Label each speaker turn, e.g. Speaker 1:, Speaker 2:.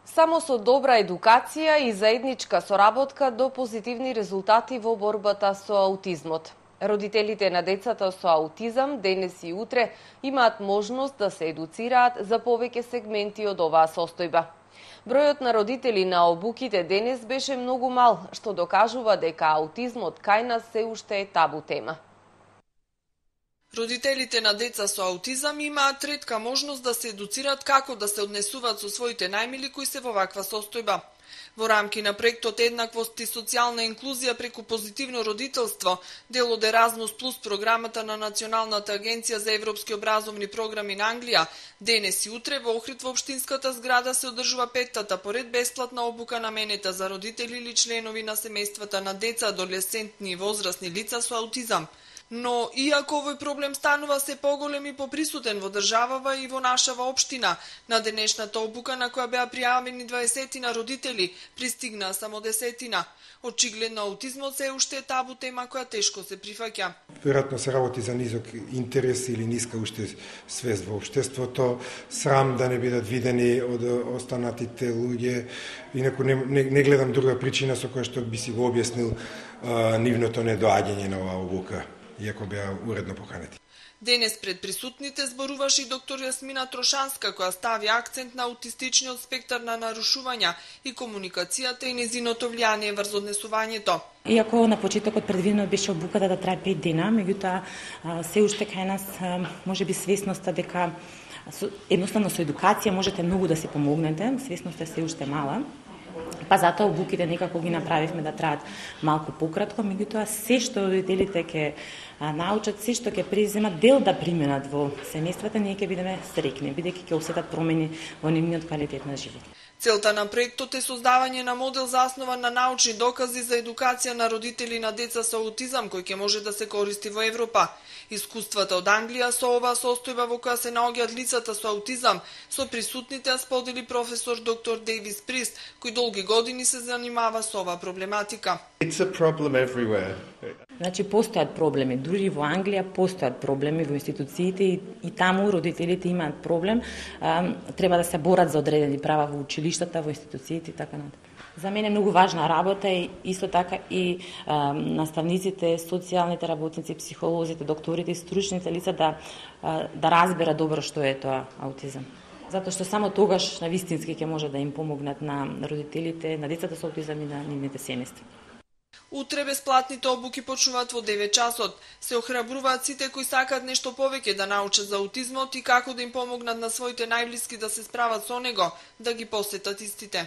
Speaker 1: Само со добра едукација и заедничка соработка до позитивни резултати во борбата со аутизмот. Родителите на децата со аутизам денес и утре имаат можност да се едуцираат за повеќе сегменти од оваа состојба. Бројот на родители на обуките денес беше многу мал, што докажува дека аутизмот кај нас се уште е табу тема.
Speaker 2: Родителите на деца со аутизам имаат ретка можност да се едуцираат како да се однесуваат со своите најмили кои се во ваква состојба. Во рамки на проектот Еднаквост и социјална инклузија преку позитивно родителство, дел од Еразмус плюс програмата на Националната агенција за европски образовни програми на Англија, денес и утре во Охрид во општинската зграда се одржува петтата поред бесплатна обука наменета за родители или членови на семејствата на деца, адолесцентни и возрастни лица со аутизам. Но, иако овој проблем станува се поголем и поприсутен во државава и во нашава општина, на денешната обука на која беа пријавени 20 родители, пристигнаа само 10. Очигледно аутизмот се уште е табу тема која тешко се прифаќа.
Speaker 3: Веројатно се работи за низок интерес или ниска уште свест во општеството, срам да не бидат видени од останатите луѓе, инаку не гледам друга причина со која што би си го објаснил нивното недоаѓање на оваа обука, иако беа уредно поканети.
Speaker 2: Денес пред присутните зборуваше и доктор Јасмина Трошанска, која стави акцент на аутистичниот спектар на нарушувања и комуникацијата и незиното влијание врз однесувањето.
Speaker 4: Иако на почетокот предвидено беше обуката да трае 5 дена, меѓутоа се уште кај нас можеби свесноста дека едноставно со едукација можете многу да се помогнете, свесноста се уште мала. Па затоа обуките некако ги направивме да траат малку пократко, меѓутоа се што родителите ќе научат, се што ќе преземат дел да применат во семејствата, ние ќе бидеме среќни, бидејќи ќе осетат промени во нивниот квалитет на живот.
Speaker 2: Целта на проектот е создавање на модел заснован на научни докази за едукација на родители на деца со аутизам, кој ќе може да се користи во Европа. Искуствата од Англија со оваа состојба во која се наоѓаат лицата со аутизам, со присутните сподели професор доктор Дейвис Прист, кој долги години се занимава со оваа проблематика.
Speaker 5: It's a problem everywhere.
Speaker 4: Значи постојат проблеми, дури во Англија постојат проблеми во институциите и таму родителите имаат проблем, треба да се борат за одредени права во училиштата, во институциите и така натаму. За мене е многу важна работа и исто така и наставниците, социјалните работници, психолозите, докторите и стручните лица да разберат добро што е тоа аутизам. Затоа што само тогаш навистински ќе може да им помогнат на родителите, на децата со аутизам и на нивните семејства.
Speaker 2: Утре бесплатните обуки почнуваат во 9 часот. Се охрабруваат сите кои сакаат нешто повеќе да научат за аутизмот и како да им помогнат на своите најблиски да се справат со него, да ги посетат истите.